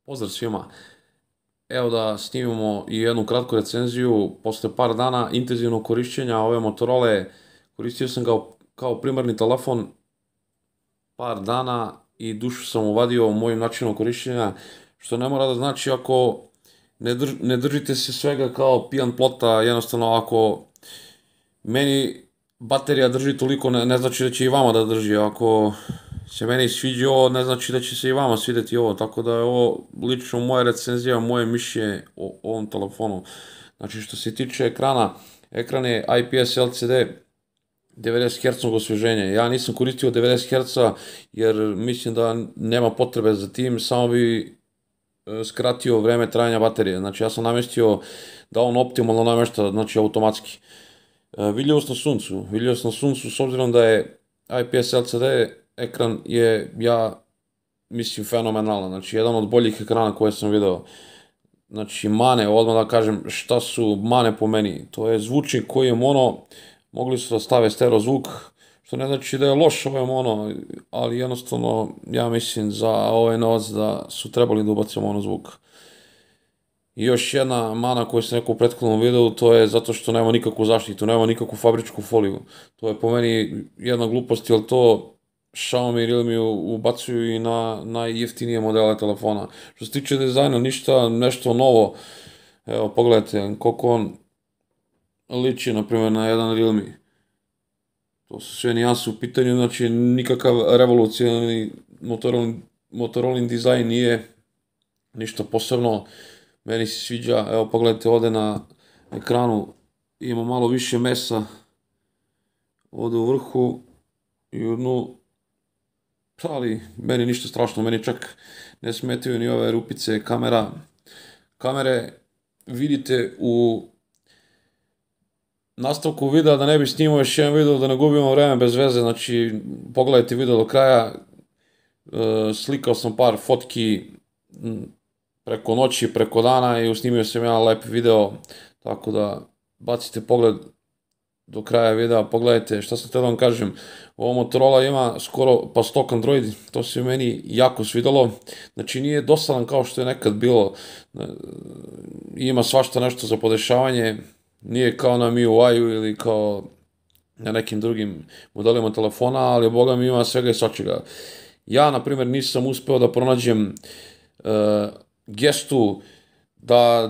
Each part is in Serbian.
Pozdrav svima. Evo da snimimo i jednu kratku recenziju. Posle par dana intenzivnog korišćenja ove Motorola, koristio sam ga kao primarni telefon par dana i dušu sam uvadio mojim načinom korišćenja, što ne mora da znači ako ne držite se svega kao pijan plota, jednostavno ako meni baterija drži toliko, ne znači da će i vama da drži. Ako se meni sviđa ovo, ne znači da će se i vama svideti ovo. Tako da je ovo lično moja recenzija, moje mišljenje o ovom telefonu. Znači što se tiče ekrana, ekran je IPS LCD 90 Hz osveženja. Ja nisam koristio 90 Hz jer mislim da nema potrebe za tim, samo bi skratio vreme trajanja baterije. Znači ja sam namestio da on optimalno namešta, znači automatski. Vidljivost na suncu. Vidljivost na suncu, s obzirom da je IPS LCD ekran, je, ja mislim, fenomenalan. Znači, jedan od boljih ekrana koje sam video. Znači, mane, odmah da kažem šta su mane po meni. To je zvučnik koji je mono, mogli su da stave stereo zvuk, što ne znači da je loš ovaj mono, ali jednostavno, ja mislim za ovaj novac da su trebali da ubace mono zvuk. I još jedna mana koju sam rekao u prethodnom videu, to je zato što nema nikakvu zaštitu, nema nikakvu fabričku foliju. To je po meni jedna glupost, jer to Xiaomi i Realme ubacuju i na najjeftinije modele telefona. Što se tiče dizajna, ništa nešto novo. Evo, pogledajte koliko on liči, na primjer, na jedan Realme. To su sve nijanse u pitanju, znači nikakav revolucionarni Motorolin dizajn nije ništa posebno. Meni se sviđa, evo pogledajte ovde na ekranu, ima malo više mesa ovde u vrhu i u dnu, ali meni ništa strašno, meni čak ne smetaju ni ove rupice kamera. Kamere vidite u nastavku videa, da ne bi snimao još jedan video, da ne gubimo vreme bez veze, znači pogledajte video do kraja. Slikao sam par fotki preko noći, preko dana i usnimio sam jedan lep video, tako da bacite pogled do kraja videa, pogledajte šta sam htio da vam kažem. Ovo Motorola ima skoro pa stok Android, to se meni jako svidelo, znači nije dosadan kao što je nekad bilo, ima svašta nešto za podešavanje, nije kao na MIUI-u ili kao na nekim drugim modelima telefona, ali boga mi ima svega i svačega. Ja, na primjer, nisam uspeo da pronađem gestu da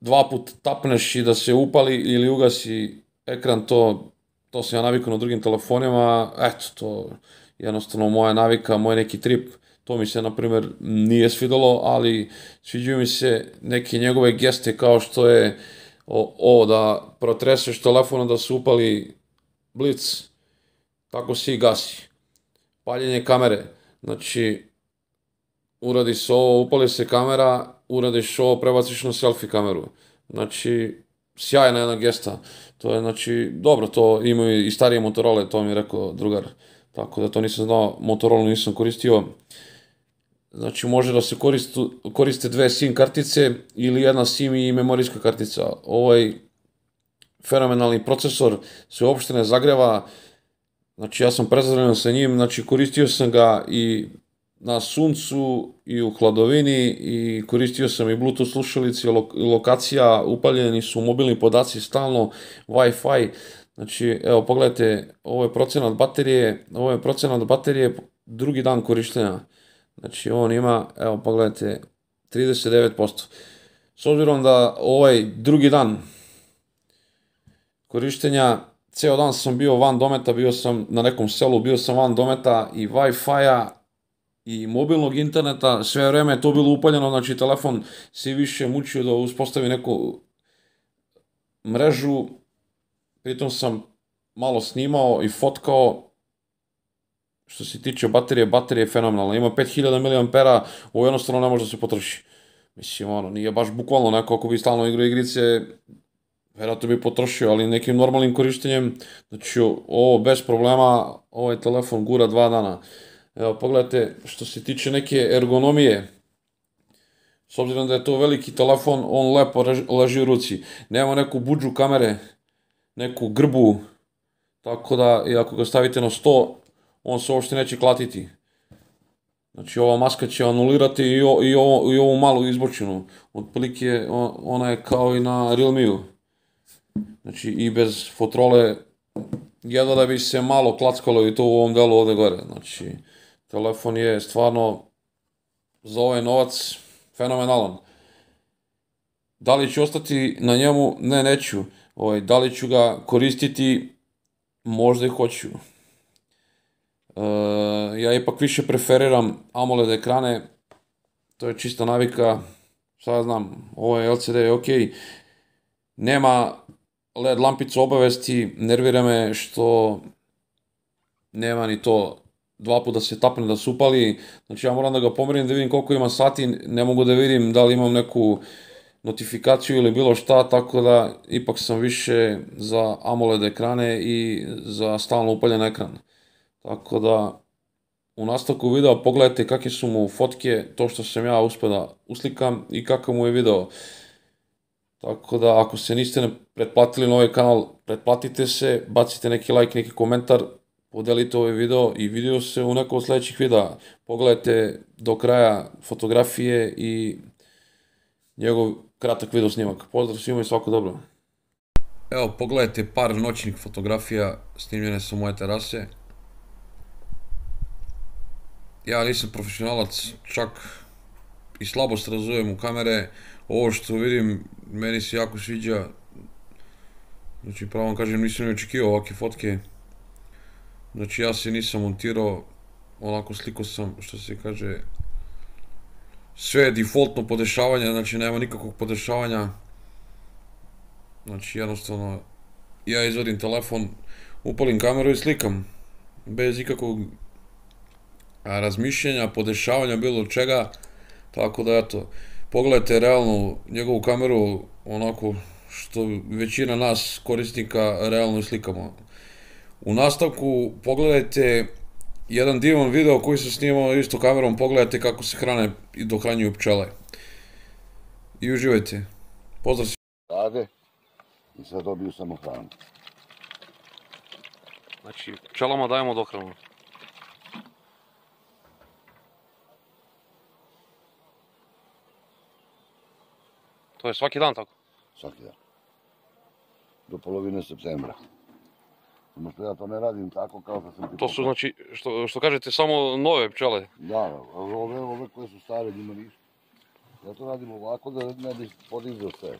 dva put tapneš i da se upali ili ugasi ekran, to sam ja navikao na drugim telefonima, eto, to jednostavno moja navika, moj neki trip, to mi se, na primjer, nije svidelo, ali sviđaju mi se neke njegove geste kao što je ovo da protreseš telefonom da se upali blic, tako se i gasi. Paljenje kamere, znači uradi se ovo, upali se kamera, uradiš ovo, prebaciš na selfie kameru. Znači, sjajna jedna gesta. To je, znači, dobro, to imaju i starije Motorola, to mi je rekao drugar. Tako da to nisam znao, Motorola nisam koristio. Znači, može da se koriste dve SIM kartice ili jedna SIM i memorijska kartica. Ovaj fenomenalni procesor se uopšte ne zagreva, znači ja sam prezadovoljan sa njim, znači koristio sam ga i na suncu i u hladovini i koristio sam i Bluetooth slušalice, lokacija, upaljeni su mobilni podaci stalno, Wi-Fi, znači evo pogledajte, ovo je procenat baterije drugi dan korištenja, znači on ima, evo pogledajte, 39%. S obzirom da ovaj drugi dan korištenja, ceo dan sam bio van dometa, bio sam na nekom selu, bio sam van dometa i Wi-Fi-a i mobilnog interneta, sve vreme je to bilo upaljeno, znači telefon se više mučio da uspostavi neku mrežu, pritom sam malo snimao i fotkao. Što se tiče baterije, baterija je fenomenalna, ima 5000 mAh, ovo jednostavno ne može da se potroši. Mislim, ono, nije baš bukvalno neko ako bi stalno igrao igrice, verovatno bi potrošio, ali nekim normalnim korištenjem, znači ovo bez problema, ovaj telefon gura 2 dana. Evo, pogledajte, što se tiče neke ergonomije, s obzirom da je to veliki telefon, on lepo leži u ruci. Nema neku budžu kamere, neku grbu, tako da i ako ga stavite na sto, on se uopšte neće klatiti. Znači ova maska će anulirati i ovu malu izbočinu. Otprilike ona je kao i na Realme-u. Znači i bez fotrole jedva da bi se malo klackalo i to u ovom delu ovde gore. Znači telefon je stvarno za ovaj novac fenomenalan. Da li ću ostati na njemu? Ne, neću. Da li ću ga koristiti? Možda i hoću. Ja ipak više preferiram AMOLED ekrane, to je čista navika, šta ja znam, ovo je LCD je okej. Nema LED lampicu obavesti, nervira me što nema ni to dva puta da se tapne da se upali, znači ja moram da ga pomerim da vidim koliko ima sati, ne mogu da vidim da li imam neku notifikaciju ili bilo šta, tako da ipak sam više za AMOLED ekrane i za stalno upaljen ekran. Tako da u nastavku videa pogledajte kakve su mu fotke, to što sam ja uspeo da uslikam i kakav mu je video. Tako da ako se niste pretplatili na ovaj kanal, pretplatite se, bacite neki like, neki komentar, podelite ovaj video i video se u nekom od sledećih videa. Pogledajte do kraja fotografije i njegov kratak video snimak. Pozdrav svima i svako dobro. Evo, pogledajte par noćnih fotografija snimljene sa moje terase. Ja nisam profesionalac, čak i slabo se razumem u kamere. Ovo što vidim, meni se jako sviđa. Znači, pravo vam kažem, nisam ni očekivao ovakve fotke. Znači, ja se nisam montirao, onako sliko sam, što se kaže, sve je defaultno podešavanje, znači nema nikakvog podešavanja. Znači, jednostavno, ja izvadim telefon, upalim kameru i slikam. Bez ikakvog razmišljenja, podešavanja, bilo čega. Tako da, eto, pogledajte realno njegovu kameru, onako što većina nas korisnika realno i slikamo. U nastavku pogledajte jedan divan video koji se snimao isto kamerom, pogledajte kako se hrane i dohranjuju pčele. I uživajte. Pozdrav svima. Rade i sad dobiju samo hranu. Znači, pčelama dajemo dohranu. To je svaki dan tako? Svaki dan. Do polovine septembra. Samo što ja to ne radim tako kao što sam ti To su, znači, što kažete, samo nove pčele? Da, ove koje su stare njima ništa. Ja to radim ovako da ne bi podizao sve.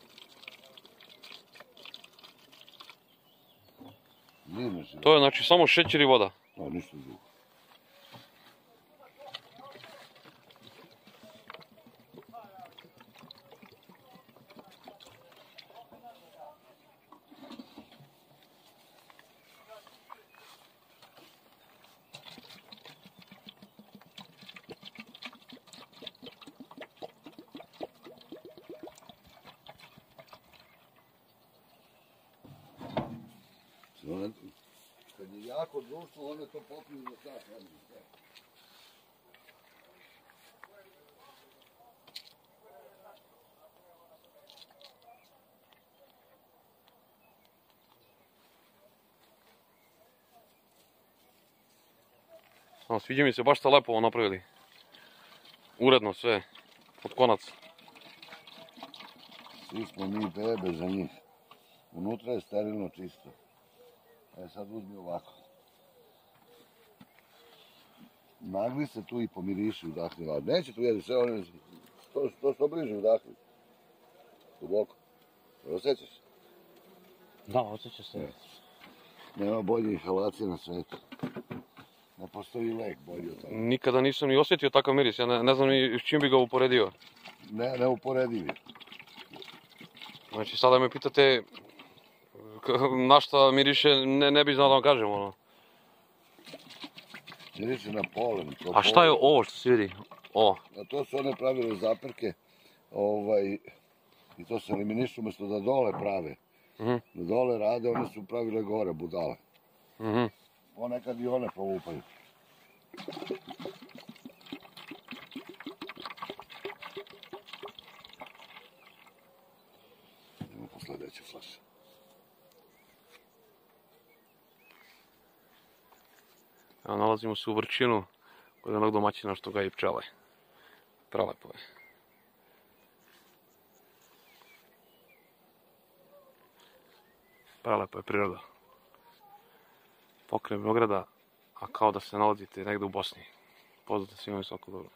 Zimeš. To je, znači, samo šećer i voda? Da, ništa drugo. Kad je jako društvo, one to popiju za sat vremena. Sviđa mi se, baš ste lepo ovo napravili. Uredno sve, od konaca. Svi smo mi bebe za njih. Unutra je sterilno čisto. Sad uzmi ovako. Nagli se tu i pomiriši, udahni. Neće tu jedi sve one, što bliže udahni. Duboko. Osjećaš? Da, osjeća se. Nema bolje inhalacije na svetu. Ne postoji lek bolji od toga. Nikada nisam ni osjetio takav miris, ja ne znam ni s čim bi ga uporedio. Neuporedivi. Znači, sada me pitate na šta miriše, ne bi znao da vam kažem, ono. Miriše na polen. A šta je ovo što se vidi? Ovo? To su one pravile zaprke, i to se eliminišu umjesto da dole prave. Da dole rade, one su pravile gore, budale. Ponekad i one povupaju. Idemo po sledeće flaše. Evo, nalazimo se u Vrčinu, kod jednog domaćina što ga i pčele. Prelepo je. Prelepo je priroda. Pokraj Beograda, a kao da se nalazite negde u Bosni. Pozdrav svima i svako dobro.